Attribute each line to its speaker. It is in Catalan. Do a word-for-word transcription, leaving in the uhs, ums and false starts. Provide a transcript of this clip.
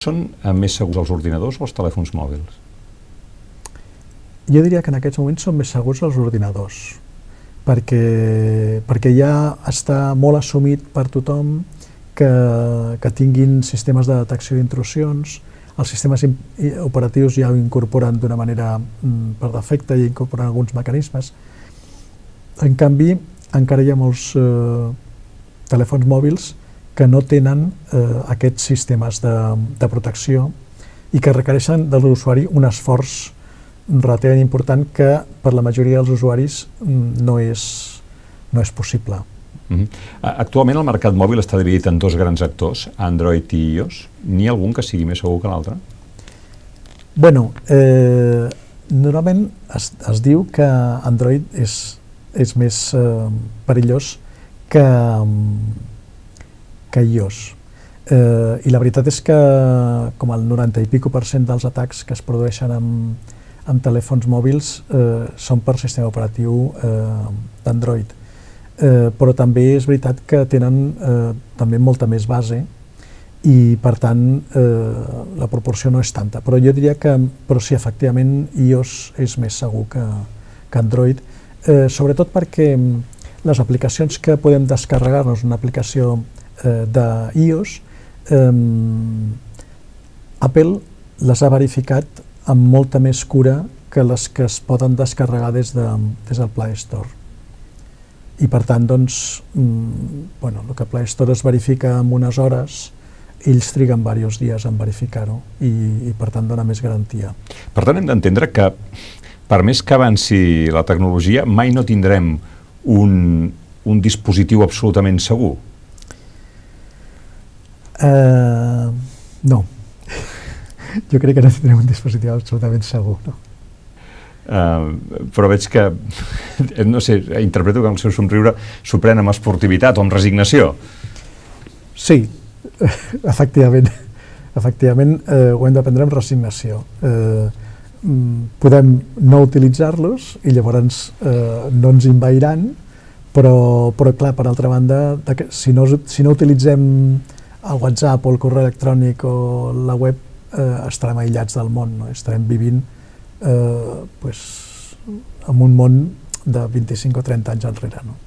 Speaker 1: Són més segurs els ordinadors o els telèfons mòbils?
Speaker 2: Jo diria que en aquests moments són més segurs els ordinadors, perquè, perquè ja està molt assumit per tothom que, que tinguin sistemes de detecció d'intrusions. Els sistemes operatius ja ho incorporen d'una manera per defecte i incorporen alguns mecanismes. En canvi, encara hi ha molts eh, telèfons mòbils que no tenen eh, aquests sistemes de, de protecció i que requereixen de l'usuari un esforç relativament important que per la majoria dels usuaris no és, no és possible.
Speaker 1: Mm-hmm. Actualment el mercat mòbil està dividit en dos grans actors, Android i iOS. N'hi ha algun que sigui més segur que l'altre?
Speaker 2: Bueno, eh, normalment es, es diu que Android és, és més eh, perillós que, que iOS. Eh, I la veritat és que com el noranta i pico per cent dels atacs que es produeixen amb, amb telèfons mòbils eh, són per sistema operatiu eh, d'Android. Eh, però també és veritat que tenen eh, també molta més base i per tant eh, la proporció no és tanta, però jo diria que però sí, efectivament iOS és més segur que, que Android, eh, sobretot perquè les aplicacions que podem descarregar-nos, una aplicació eh, d'iOS, eh, Apple les ha verificat amb molta més cura que les que es poden descarregar des, de, des del Play Store. I per tant, doncs, mmm, bueno, el que Play Store es verifica en unes hores, ells triguen diversos dies en verificar-ho i, i per tant dona més garantia.
Speaker 1: Per tant, hem d'entendre que per més que avanci la tecnologia, mai no tindrem un, un dispositiu absolutament segur?
Speaker 2: Uh, no. Jo crec que no tindrem un dispositiu absolutament segur, no?
Speaker 1: Uh, però veig que, no sé, interpreto que el seu somriure s'ho pren amb esportivitat o amb resignació.
Speaker 2: Sí, efectivament. Efectivament, eh, ho hem de prendre amb resignació. Eh, podem no utilitzar-los i llavors eh, no ens envairan, però, però clar, per altra banda, que, si, no, si no utilitzem el WhatsApp o el correu electrònic o la web, eh, estarem aïllats del món, no? Estarem vivint eh, pues, en un món de vint-i-cinc o trenta anys enrere, no?